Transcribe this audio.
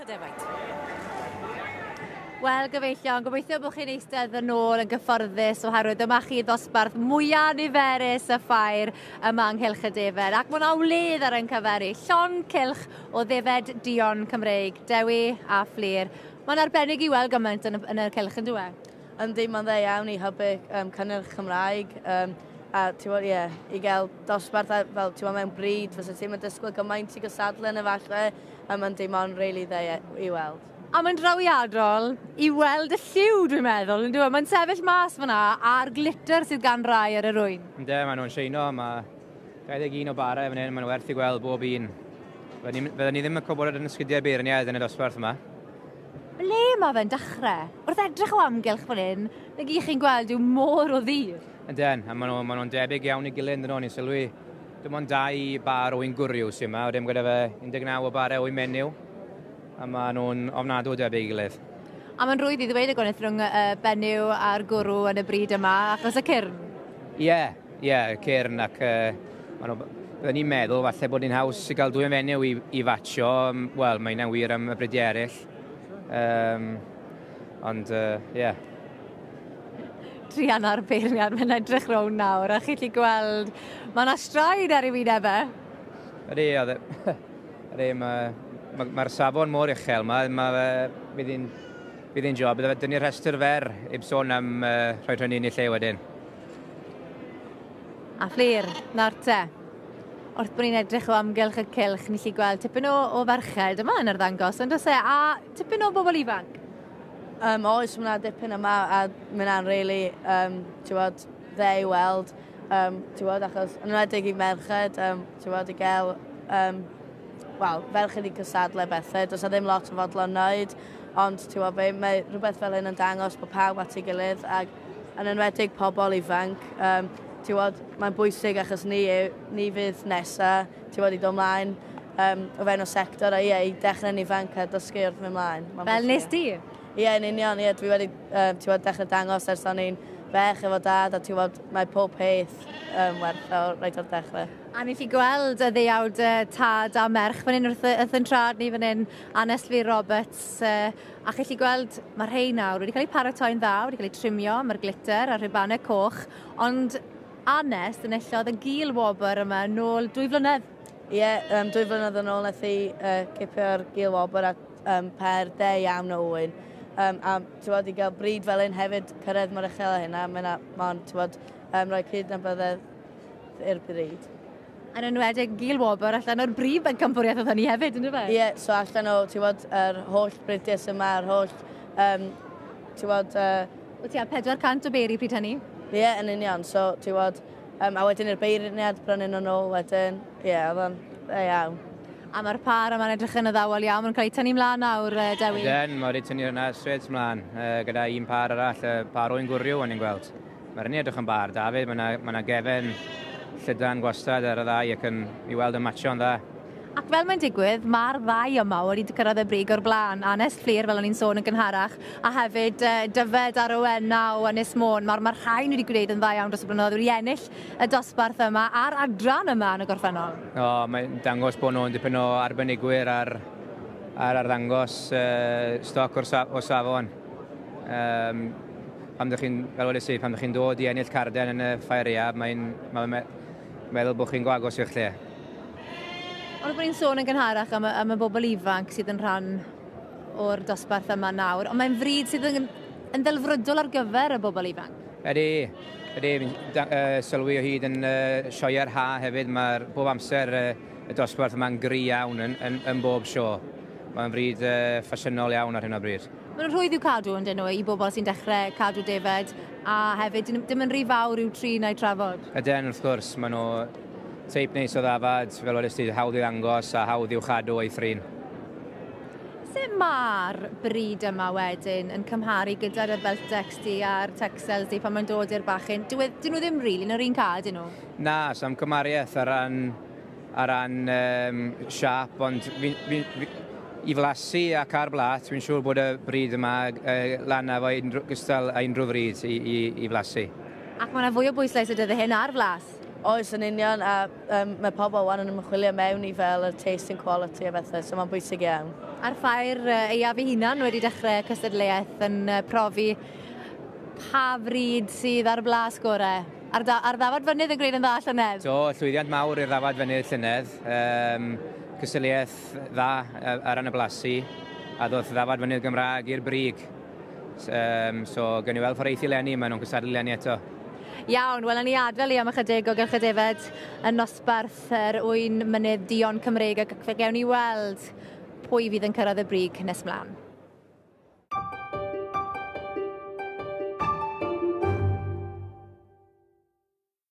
y Defaid. Wel, gyfeillion, gobeithio bod chi'n eistedd yn ôl yn gyfforddus oherwydd dyma chi ddosbarth mwyaf niferus y ffair yma yng Nghylch y Defed. Ac mae yna wledd ar ein cyfer i, llon cylch o ddefed duon Cymreig, Dewi a Fflur. Mae'n arbennig i weld gymaint yn y, yn y cylch yn dyw e? Yndi, mae'n dda iawn i hybu cynnyrch Cymraeg. A ti'n gwybod, ie, i gael dosbarth a, fel, ti'n gwybod, mewn bryd, fysa ti'n mynd disgwyl gymaint i gysadlu yn efallai, a mae'n dim ond rili dda i weld. A mae'n drawiadol i weld y lliw, dwi'n meddwl, yn dyw e? Mae'n sefyll mas fyna a'r glitter sydd gan rai ar yr ŵyn. Ynde, maen nhw'n sheino, mae 21 o barau fan hyn, maen nhw werth i gweld bob un. Fydden ni ddim yn cwbl yn ysgidiau beirniaid yn y dosbarth yma. Ble mae fe'n dechrau? Wrth edrych o amgylch fan hyn, na gyd chi'n gweld yw môr o ddu. Ynden, a maen nhw'n nhw debyg iawn i gilydd, yn nhw, ni'n sylwi. Dim ond dau bar o un gwryw sy'n yma, wedyn gyda fe 19 o barau o un menyw, a maen nhw'n ofnadw o debyg i gilydd. A mae'n rhwydd i ddweud y gwahaniaeth rhwng y benyw a'r gwrw yn y bryd yma, achos y cyrn. Ie, ie, cyrn ac maen nhw, bydden ni'n meddwl falle bod ni'n haws i gael dwy fenyw i fatsio. Wel, mae hynna'n wir am y bridiau eraill. Ond, ie. Yeah. Druan ar beirniad, mae'n edrych rownd nawr, a chi'n gallu gweld, mae yna straen ar ei wyneb e. Ydy, oedd e. Ydy, mae'r ma safon mor uchel, bydd hi'n job, bydde fe dynnu'r rhestr fer, heb sôn am rhoi rhywun yn ei lle wedyn. A Fflur, nawr te. Wrth bod ni'n edrych o amgylch y cylch, ni'n gallu gweld tipyn o ferched yma yn arddangos, ond oes e, a tipyn o bobl ifanc? Oes, mae yna dipyn yma, a mae hynna'n really, ti'n gwbod, dde i weld, ti'n gwbod, achos yn enwedig i merched, ti'n gwbod, i gael, wel, ferched i cystadlu bethau, does 'na ddim lot o fodlon wneud, ond ti'n gwbod be, mae rhywbeth fel hyn yn dangos bod pawb at ei gilydd, ac yn enwedig pobl ifanc, ti'n gwbod, mae'n bwysig achos ni fydd nesa, ti'n gwbod, i dod ymlaen o fewn o sector, a ie, i dechrau'n ifanc a dysgu wrth mynd ymlaen. Mae'n Fel nes ti? Ie, yn union, ie, dwi wedi ti'n gwbod, dechrau dangos ers o'n i'n fech efo dad, a ti'n gwbod, mae pob peth werth o reit o'r dechrau. A ni'n gallu gweld y ddeuawd tad a merch fan hyn wrth yn trad ni fan hyn, Anest Fflur Roberts, a chi'n gallu gweld mae rhai nawr wedi cael eu paratoi'n dda, wedi cael eu trimio, mae'r glitter a'r rhubanau coch, ond Anest enillodd y gil wobr yma nôl 2 flynedd. Ie, 2 flynedd yn ôl nath hi cipio'r gil wobr a per de iawn o ŵyn. A ti'n gwbod, i gael bryd fel hyn hefyd, cyrraedd mor uchel â hynna, mae'n ti'n gwbod, rhoi cydnabyddiaeth i'r bryd. Yn enwedig gil wobr allan o'r brif bencampwriaeth oedd hynny hefyd, yndyfe? Ie, so allan o, ti'n gwbod, yr holl bridiau sy'n yma, yr holl, ti'n gwbod... O tua 400 o beri pryd hynny? Ie, yn union, so, ti'n gwbod, a wedyn i'r beirniad brynu nhw nôl wedyn, ie, oedd o'n dda iawn. A mae'r par yma'n edrych yn addawol iawn, maen nhw'n cael eu tynnu mlaen nawr, Dewi. Ydyn, mae wedi tynnu hwnna straight mlaen, gyda un par arall, y par oen gwryw o'n i'n gweld. Mae'r un edrych yn bar, David, mae yna gefen llydan gwastad ar y ddau ac yn i weld yn matcho'n dda. Ac fel mae'n digwydd, mae'r ddau yma wedi cyrraedd y brig o'r blaen. Anest Fflur, fel o'n i'n sôn yn gynharach, a hefyd Dyfed a Rowena o Ynys Môn. Mae'r ma rhain wedi gwneud yn dda iawn dros y blynyddoedd, wedi ennill y dosbarth yma a'r adran yma yn y gorffennol. O, mae'n dangos bod nhw'n dipyn o arbenigwyr ar arddangos stoc o safon. Pan ydych chi'n, fel wedes i, pan ydych chi'n dod i ennill carden yn y ffair aeaf, mae'n meddwl bod chi'n go agos i'ch lle. Ond bod ni'n sôn yn gynharach am y bobl ifanc sydd yn rhan o'r dosbarth yma nawr, ond mae'n fryd sydd yn ddelfrydol ar gyfer y bobl ifanc. Ydy, ydy, fi'n sylwi o hyd yn sioeau'r ha hefyd, mae'r bob amser y dosbarth yma'n gry iawn yn bob sio. Mae'n fryd ffasiynol iawn ar hyn o bryd. Maen nhw'n rhwydd i'w cadw yn dyn nhw i bobl sy'n dechrau cadw defed, a hefyd dim yn rhy fawr i'w trin a'i trafod. Ydyn, wrth gwrs, maen nhw teip neis o ddafad, fel wedest ti, hawdd i ddangos a hawdd i'w chadw a'i thrin. Sut mae'r bryd yma wedyn yn cymharu gyda'r Beltex di a'r Texels di pan mae'n dod i'r bachyn? Dyn nhw ddim rili yn yr un ca, dyn nhw? Na, sam cymhariaeth ar ran siâp, ond i flasu ac ar blat, fi'n siŵr bod y bryd yma lan efo gystal a unrhyw fryd i flasu. Ac mae yna fwy o bwyslais y dyddiau hyn ar flas? Oes, yn union, a mae pobl wan yn ymchwilio mewn i fel y taste and quality a bethau, so mae'n bwysig iawn. A'r ffair aeaf ei hunan wedi dechrau cystadleuaeth yn profi pa fryd sydd ar blas gorau. A'r, da, ar ddafad fynydd yn gwneud yn dda llynedd? Do, llwyddiant mawr i'r ddafad fynydd llynedd. Cystadleuaeth dda ar ran y blasu, a ddoth ddafad fynydd Gymraeg i'r brig. So, gawn ni weld ffordd eithi leni, maen nhw'n cystadlu leni eto. Iawn, wel, ni adael i am ychydig o Gylch y Defed yn nosbarth yr ŵyn mynydd duon Cymreig ac fe gewn ni weld pwy fydd yn cyrraedd y brig nes mlaen.